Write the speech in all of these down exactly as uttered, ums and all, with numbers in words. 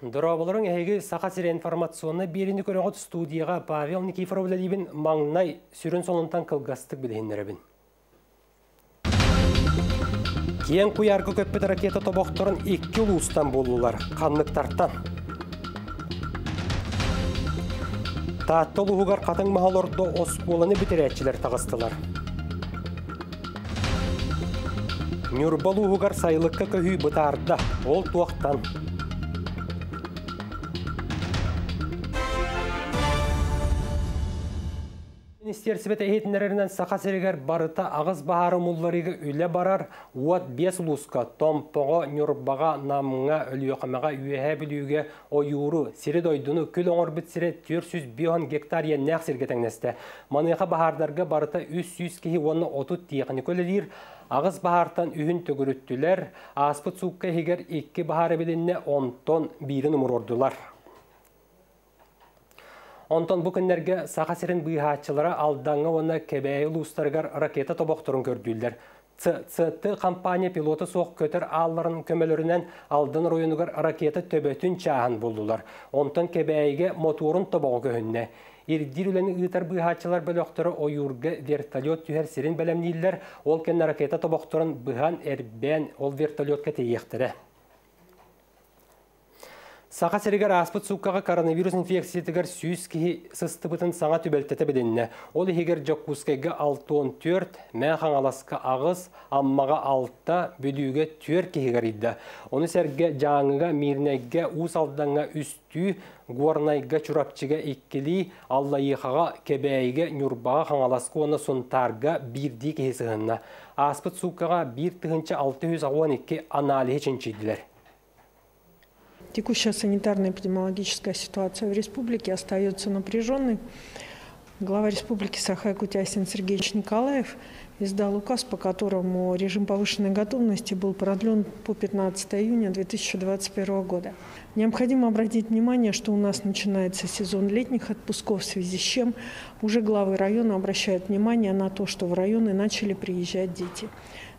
Дорооболоруҥ, эһиги Саха сирэ информационнай биэриини көрөҕүт, студияҕа Павел Никифоров үлэлиибин. Маҥнай сүрүн сонунтан кылгастык билиһиннэрэбин. Киэҥ куйаарга көппүт ракета тобохторун икки улуустан буллулар. Ханныктартан? Таатта улууһугар хатыҥ маһы олордо оскуоланы бүтэрээччилэр таҕыстылар. Ньурба улууһугар сайылыкка көһүү бытаарда. Ол туохтан? Министиэристибэ иһитиннэрэринэн, Саха сиригэр барыта аҕыс баһаары умулларыыга үлэ барар. Уот биэс улууска: Томпоҕо, Ньурбаҕа, Намҥа, Өлүөхүмэҕэ, Үөһээ Бүлүүгэ ойууру, сири-дойдуну күл оҥорбут сирэ түөрт сүүс биэс уон гектар иэннээх сиргэ тэҥнэстэ. Маныаха баһаардарга барыта үс сүүс киһи уонна отут тиэхиньикэ үлэлиир. Аҕыс баһаартан үһүн төгүрүттүлэр. Ааспыт суукка иһигэр икки баһаар эбилиннэ, онтон биирин умуруордулар. Онтон бу күннэргэ Саха сирин быыһааччылара Алдаҥҥа уонна Кэбээйи улуустарыгар ракета тобохторун көрдүүллэр. Ц Ц Т компания пилота суох көтөр аалларын көмөлөрүнэн Алдан оройуонугар ракета төбөтүн чааһын буллулар. Онтон Кэбээйигэ мотуорун тобоҕо көһүннэ. Ирдиир үлэни ыытар быыһааччылар бөлөхтөрө ойуурга вертолет түһэр сирин бэлэмнииллэр. Ол кэннэ ракета тобохторун быһан, эрбээн ол вертолетка тиэйиэхтэрэ. Саха сиригэр ааспыт сууккаҕа коронавирус инфекциятыгар сүүс киһи сыстыбытын саҥа түбэлтэтэ билиннэ. Ол иһигэр Дьокуускайга алта уон түөрт, Мэҥэ Хаҥаласка аҕыс, Аммаҕа алта, Бүлүүгэ түөрт киһи ыарыйда. Ону сэргэ Дьааҥыга, Миирнэйгэ, Уус Алдаҥҥа үстүү, Горнайга, Чурапчыга иккилии, Аллайыахаҕа, Кэбээйигэ, Ньурбаҕа, Хаҥаласка уонна Сунтаарга биирдии киһи сыһынна. Ааспыт сууккаҕа биир тыһыынча алта сүүс аҕыс уон икки аналиһы чинчийдилэр. Текущая санитарно-эпидемиологическая ситуация в республике остается напряженной. Глава республики Саха-Якутия Айсен Сергеевич Николаев издал указ, по которому режим повышенной готовности был продлен по пятнадцатое июня две тысячи двадцать первого года. Необходимо обратить внимание, что у нас начинается сезон летних отпусков, в связи с чем уже главы района обращают внимание на то, что в районы начали приезжать дети.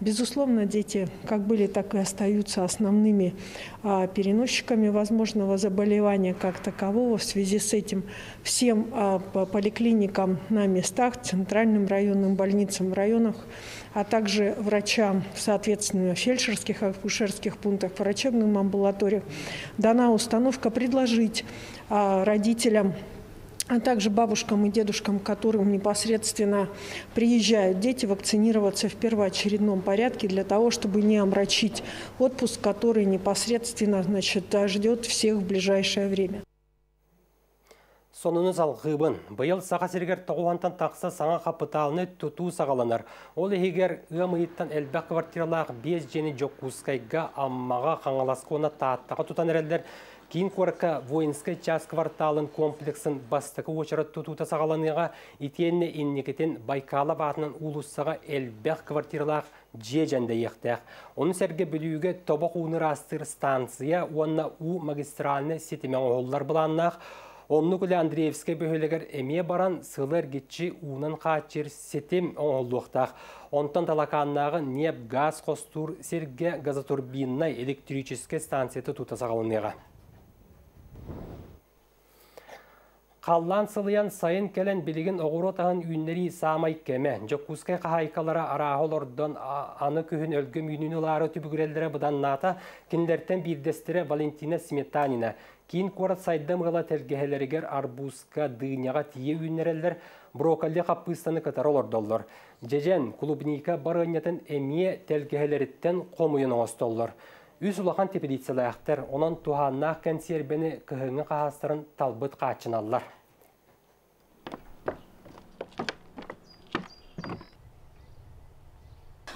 Безусловно, дети как были, так и остаются основными, а, переносчиками возможного заболевания как такового. В связи с этим всем, а, по-, поликлиникам на местах, центральным районным больницам в районах, а также врачам, соответственно, в фельдшерских, акушерских пунктах, врачебным амбулаториях дана установка предложить, а, родителям, а также бабушкам и дедушкам, к которым непосредственно приезжают дети, вакцинироваться в первоочередном порядке для того, чтобы не омрачить отпуск, который непосредственно, значит, ждет всех в ближайшее время. Сонуну салгыыбын. Быйыл Саха сиригэр тоҕус уонтан тахса саҥа хапытаалынай тутуу саҕаланар. Ол иһигэр ыам ыйыттан элбэх квартиралаах биэс дьиэни Дьокуускайга, Аммаҕа, Хаҥаласка уонна Тааттаҕа тутан эрэллэр. Киин куоракка Воинскай час кварталын комплексын бастакы уочарат тутуута саҕаланыаҕа, итиэннэ инникитин Байкалов аатынан уулуссаҕа элбэх квартиралаах дьиэ дьэндэйиэхтээх. Ону сэргэ Бүлүүгэ тобох ууну ыраастыыр станция уонна уу магистральнай ситимэ оҥоһуллар былааннаах. Оннук үлэ Андреевскай бөһүөлэгэр эмиэ баран, сылы эргиччи уунан хааччыйар ситим оҥоһуллуохтаах. Онтон Талакааннааҕы ньиэп газ хостуур сиргэ газотурбиннай электрическэй станция тутуута саҕаланыаҕа. Халлаан сылыйан, сайын кэлэн, билигин оҕуруот аһын үүннэрии саамай кэмэ. Дьокуускай хаһаайкалара арааһы олордон, аны күһүн өлгөм үүнүүнү ылаары түбүгүрэллэрэ быданнаата. Кинилэртэн биирдэстэрэ Валентина Сметанина. Киин куорат сайдам ыала тэлгэһэлэригэр арбузка, дыняҕа тиийэ үүннэрэллэр, брокколи хаппыыстаны кытары олордоллор. Дьэдьэн, клубника барыанньатын эмиэ тэлгэһэлэриттэн хомуйан оҥостоллор. Үс улахан теплицэлээхтэр, онон туһааннаах кэнсиэрбэни кыһыҥҥы хаһаастарын талбыт хааччыналлар.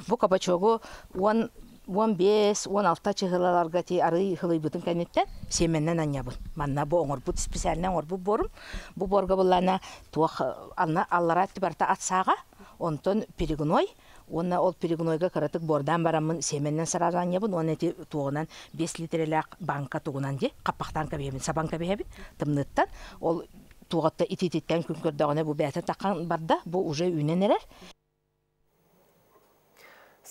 Бу кабачогу он, он бес, он алта чыһылаларга ти арый хылыйбытын кэнниттэн семеннен анньабын. Манна бу оҥорбут, специально оҥорбут борум. Бу борга буллана туох анна аллара барта атсаага, онтон перегной, уонна ол перегнойга кыратык бордан бараммын семеннен сразу анньабын, он эти туоҕунан бес литрелээх банка тугунан ди, хаппахтан кэбиһэбин, сабан кэбиһэбин, тымныттан. Ол туоҕатта итититтэн күн көрдөҕүнэ бу бээтэ таххан барда, бу уже үүнэн эрэр.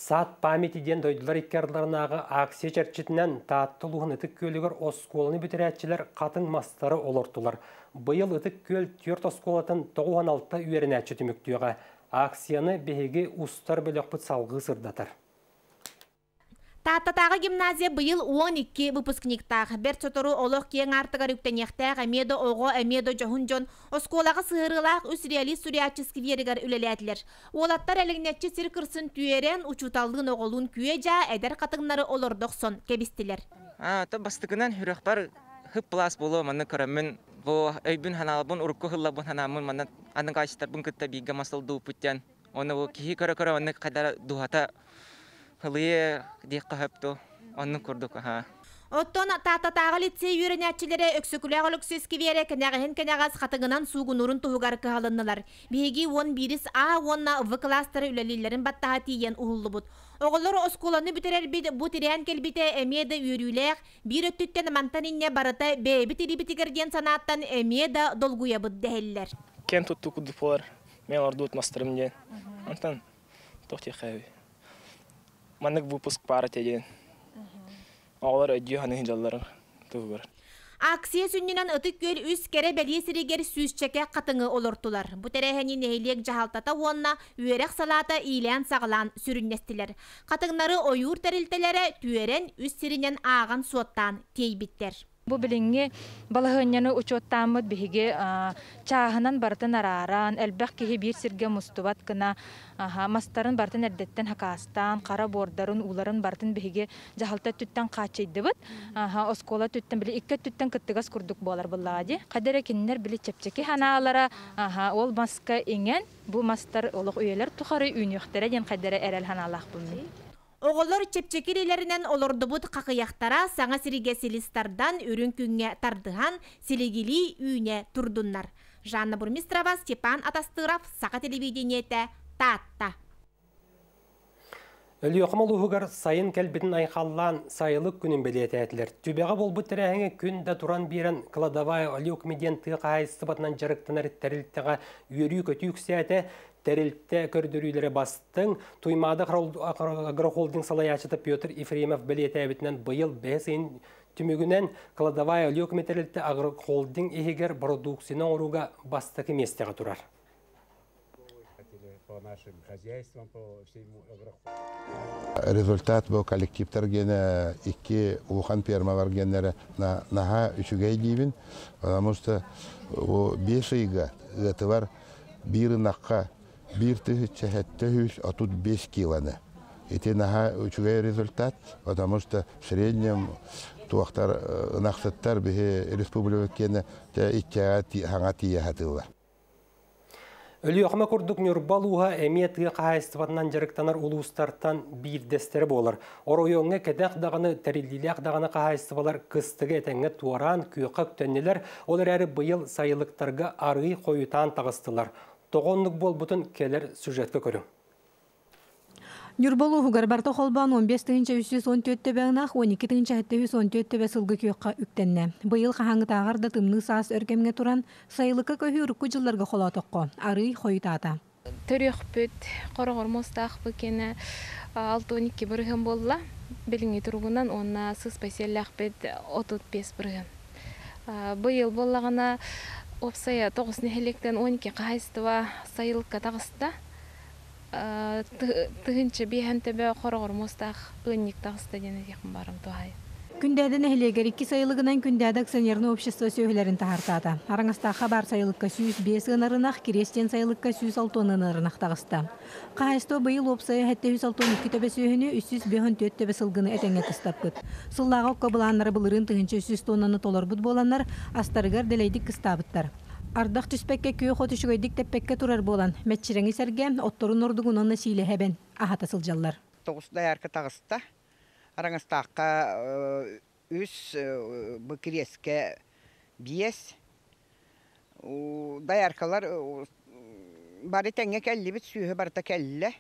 Сад памяти диэн дойдулар икки ардыларынааҕы акция чэрчитинэн Таатта улууһун Ытык Күөлүгэр оскуоланы бүтэрээччилэр хатыҥ мастары олортулар. Быйыл Ытык Күөл түөрт оскуолатын тоҕус уон алта үөрэнээччи түмүктүөҕэ. Акцияны биһиги устар бөлөхпүт салгыы сырдатар. Тааттатааҕы гимназия быйыл уон икки выпускниктаах. Бэрт сотору олох киэҥ аартыгар үктэниэхтээх эмиэ да оҕо, эмиэ да дьоһун дьон оскуолаҕа сыһыарыылаах үс реалист суруйааччы скверигэр үлэлээтилэр. Уолаттар элэҥнэччи сир кырсын түөрэн, учууталлыын оҕолуун күө-дьаа эдэр хатыҥнары олордо охсон кэбистилэр. А, то бастыкынан хүрөхпар хып плас боло манны көрөммүн бу өйбүн ханаалбын урукку хыллабын ханааммын манна аныгы ачтарбын кытта бииргэ масылдуу путтян оны бу киһи көрө-көрө онны кадара дуһата хылыйы диэххэ хөпту оннук курдук аха. Оттон Тааттатааҕы лицей үөрэнээччилэрэ Өксөкүлээх Өлөксөй скверэ кэнэҕэһин кэнэҕэс хатыҥынан суугунуурун туһугар кыһалыннылар. Биһиги уон биирис А уонна В кылаастара үлэлииллэрин баттаһа тиийэн уһуллубут. Оҕолор оскуоланы бүтэрэрбит бу тирээн кэлбитэ эмиэ да үөрүүлээх, биир өттүттэн мантан инньэ барыта бэйэбит илиибитигэр диэн санааттан эмиэ да долгуйабыт дэһэллэр. Киэн туттуу курдук буолар, мен ордуут мастарым диэн. Онтон туох диэххэ маннык выпуск баар этэ диэн. Оҕолор өйдүү саныы дьалларын туһугар. Акция сүнньүнэн Ытык Күөл үс кэрэ бэлиэ сиригэр сүүсчэкэ хатыҥы олортулар. Бу тэрээһини нэһилиэк дьаһалтата уонна үөрэх салаата иилээн-саҕалаан сүрүннэстилэр. Хатыҥнары ойуур тэрилтэлэрэ түөрэн үс сиринэн ааҕан-суоттаан тиэйбиттэр. Бу билиҥҥи балаһыанньаны учуоттааммыт биһиги чааһынан барытын арааран, элбэх киһи биир сиргэ мустубат гына мастарын барытын эрдэттэн хакаастаан, хара буордарын, ууларын барытын биһиги дьаһалта өттүттэн хааччыйдыбыт. Оскуола өттүттэн били икки өттүттэн кыттыгас курдук буолар буоллаҕа дии. Хайда эрэ кинилэр били чэпчэки ханаалара ол маска иҥэн, бу мастар олох үйэлэр тухары үүнүөхтэрэ диэн хайда эрэ эрэл ханаалаахпын мин. Оҕолор чэпчэки илиилэринэн олордубут хахыйахтара саҥа сиригэ силис тардан, үрүҥ күҥҥэ тардыһан, силигилии үүнэ турдуннар. Жанна Бурмистрова, Степан Атастыров, Саха телевидениетэ, Таатта. Өлүөхүмэ улууһугар сайын кэлбитин айхаллаан сайылык күнүн бэлиэтээтилэр. Түбэҕэ буолбут тэрээһиҥҥэ күн да туран биэрэн кладовая Өлүөхүмэ диэн тыа хаһаайыстыбатынан дьарыктанар тэрилтэҕэ үөрүү-көтүү үксээтэ. Тэрилтэ көрдөрүүлэрэ бастыҥ. Туймаада агрохолдинг салайааччыта Петр Ефремов бэлиэтээбитинэн быйыл бэс ыйын түмүгүнэн кладовая Өлүөхүмэ тэрилтэ агрохолдинг иһигэр бородууксуйаны оҥорууга бастакы миэстэҕэ турар. По нашим хозяйствам, по всему Результат бу коллективтар гене икки улахан фермалар геннere наһаа үчүгэй диибин, потому что бес ыйга ыатылар биир ынахха биир тыһыынча сэттэ сүүс отут биэс килоны. Ити наһаа үчүгэй результат, потому что в среднем туохтар ынахсыттар биһи республика киэнэ иккигэ хаҥа тиийэ сатыыллар. Өлүөхүмэ курдук Ньурба улууһа эмиэ тыа хаһаайыстыбатынан дьарыктанар улуустартан биирдэстэрэ буолар. Оройуоҥҥа кэтэх даҕаны тэриллиилээх даҕаны хаһаайыстыбалар кыстыгы этэҥҥэ туораан күөххэ үктэннилэр, ол эрээри быйыл сайылыктарга арыый хойутаан таҕыстылар. Тоҕо оннук буолбутун кэлэр сюжетка көрүҥ. Ньурба улууһугар барыта холбоон он биэс тыһыынча үс сүүс он түөрт төбө ынах, он икки тыһыынча сэттэ сүүс он түөрт төбө сылгы күөххэ үктэннэ. Быйыл хаһааҥҥытааҕар да тымныы саас өр кэмҥэ туран, сайылыкка көһүү урукку дьылларга холоотоххо, арыый хойутаата. Төрүөхпүт, хороҕор муостаахпыт кэнэ алта он икки бырыһын буолла. Билиҥҥи туругунан уонна сыспай сиэллээхпит отут биэс бырыһын. Быйыл буоллаҕына уопсайа тоҕус нэһилиэктэн он икки хаһаайыстыба сайылыкка таҕыста. Тыһыынча биэһэн төбө хороҕор муостаах ыанньык таҕыста диэн этиэхпин баарым туһаайа. Күндээдэ нэһилиэгэр икки сайылыгынан Күндээдэ акционерное общество сүөһүлэрин таһаартаата. Араҥастаахха баар сайылыкка сүүс биэс ыанарынах, Кириэс диэн сайылыкка сүүс алта уон ыанарынах таҕыста. Хаһаайыстыба быйыл уопсайа сэттэ сүүс алта уон икки төбө сүөһүнү, үс сүүс биэс уон түөрт төбө сылгыны этэҥҥэ кыстаппыт. Сыллааҕы окко былааннара былырыын тыһыынча үс сүүс тоннаны толорбут буоланнар, астарыгар дэлэйдик кыстаабыттар. Ардах түспэккэ күөх от үчүгэйдик тэппэккэ турар буолан, мэччирэҥи сэргэ отторун ордугун уонна сиилэһэбэн аһата сылдьаллар. Тоҕус доярка таҕыста. Араҥастаахха үс, бу Кириэскэ биэс. Дояркалар бары тэҥҥэ кэллибит, сүөһү барыта кэллэ.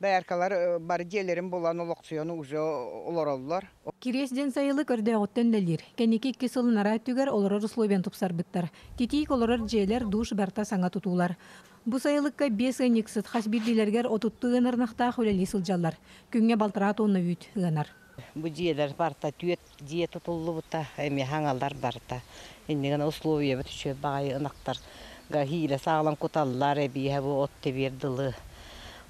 Дояркалар бары дьиэлэрин булан олохсуйан уже олороллор. Кириэс диэн сайылык өрдөөҕүттэн үлэлиир. Кэнники икки сыл анараа өттүгэр олорор условияны тупсарбыттар. Титиик олорор дьиэлэр, душ барыта саҥа тутуулар. Бу сайылыкка биэс ыанньыксыт хас биирдиилэригэр отуттуу ыанар ынахтаах үлэлии сылдьаллар. Күҥҥэ балтараа тонна үүт ыанар. Бу дьиэлэр барыта түөрт дьиэ тутуллубута, эмиэ хаҥалар барыта. Иннигэн условиябыт үчүгэй баҕайы ынахтарга хиилэ саалан куталлар, эбиэһэ бу от тэбиэр дылы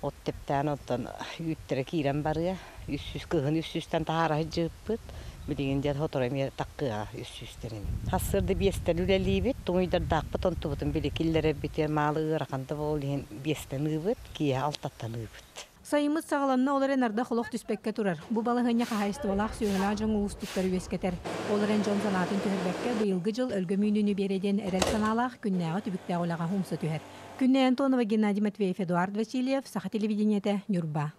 от тэптээн оттон үүттэрэ киирэн барыа. Үс сүүс кыһын үс сүүстэн таһаара сылдьыбыппыт. Билигин диэн сотору эмиэ таккыаҕа үс сүүстэрин. Сарсыарда биэстэн үлэлиибит, туҥуйдардаахпыт онтубутун били киллэрэрбит маалы ыарахан да буол иһин биэстэн ыыбыт, киэһэ алтаттан ыыбыт. Сайыммыт саҕаланна, ол эрэн ардах олох түспэккэ турар. Бу балаһыанньа хаһаайыстыбалаах сүөһүлээх дьоҥҥо уустуктары үөскэтэр. Ол эрэн дьон санаатын түһэрбэккэ быйылгы дьыл өлгөм үүнүүнү биэрэ диэн эрэл санаалаах күннээҕи түбүктээх үлэҕэ умса түһэр. Күннэй Антонова, Геннадий Матвеев, Эдуард Васильев, Саха телевидениетэ, Ньурба.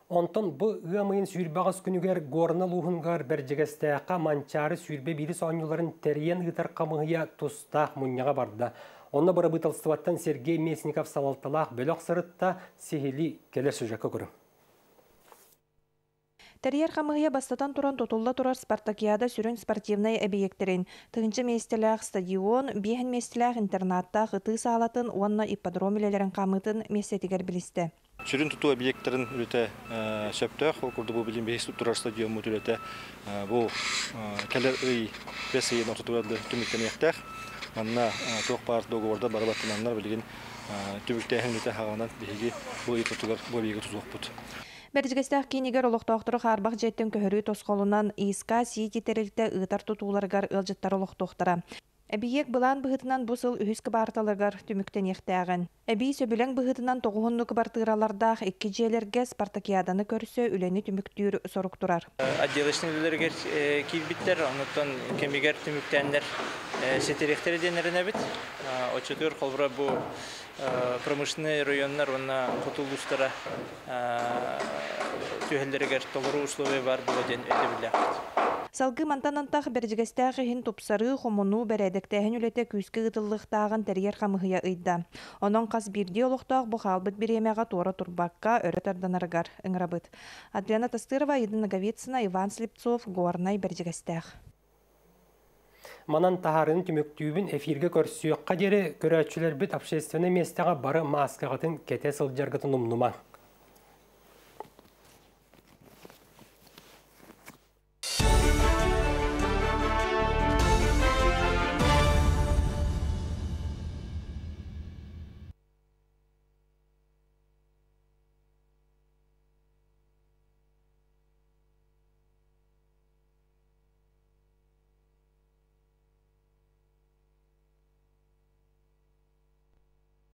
Онтон бу ыам ыйын сүүрбэ аҕыс күнүгэр Горнай улууһугар Бэрдьигэстээххэ Манчаары сүүрбэ биирис оонньууларын тэрийэн ыытар хамыыһыйа тустаах мунньаҕа барда. Онно бырабыыталыстыбаттан Сергей Местников салалталаах бөлөх сырытта сиһилии кэлэр сюжекка көрүҥ. Тэрийэр хамыыһыйа бастатан туран тутулла турар спартакиада сүрүн спортивнай эбийиэктэрин, тыһыынча миэстэлээх стадион, биэс миэстэлээх интернаттаах ытыы саалатын уонна ипподром үлэлэрин хаамыытын миэстэтигэр билистэ. Сүрүн тутуу объекттарын үлэтэ сөптөөх, ол курдук бу билигин биһиги турар стадиоммут үлэтэ бу кэлэр ый бэс ыйын ортотугар түмүктэниэхтээх. Манна туох баар договордар бары баттананнар билигин түмүктээһин үлэтэ хаҕанан биһиги бу ый ортотугар бу объекты тутуохпут. Бэрдьигэстээх киинигэр олохтоохтору хаарбах дьиэттэн көһөрүү тосхолунан ИСК Сити тэрилтэ ыытар тутууларыгар ыалдьыттар олохтуохтара. Эбийиэк былаан быһыытынан бу сыл үһүс кыбаарталыгар түмүктэниэхтээҕин. Эбии сөбүлэҥ быһыытынан тоҕуһунну кыбартыыралардаах икки дьиэлэргэ спартакиаданы көрсө үлэни түмүктүүр сорук турар. Отделочный үлэлэригэр киирбиттэр, онуттан кэмигэр түмүктээннэр ситириэхтэрэ диэннэрин эбит. Оччотугар холбура бу промышленный районнар уонна хоту улуустара түһэллэригэр толору условия бар буолуо диэн өйдөбүллээхпит. Салгыы мантан антах Бэрдьигэстээх иһин тупсарыы, хомунуу, бэрээдэктээһин үлэтэ күүскэ ыытыллыахтааҕын тэрийэр хамыыһыйа ыйда. Онон хас биирдии олохтоох бу хаалбыт бириэмэҕэ туора турбакка өрө тарданарыгар ыҥырабыт. Адриана Тастырова, Аида Ноговицына, Иван Слепцов, Горнай, Бэрдьигэстээх. Манан таһаарыыны түмүктүүбүн эфиргэ көрсүөххэ диэри көрөөччүлэрбит общественнай миэстэҕэ бары мааскаҕытын кэтэ сылдьаргытын умнумаҥ.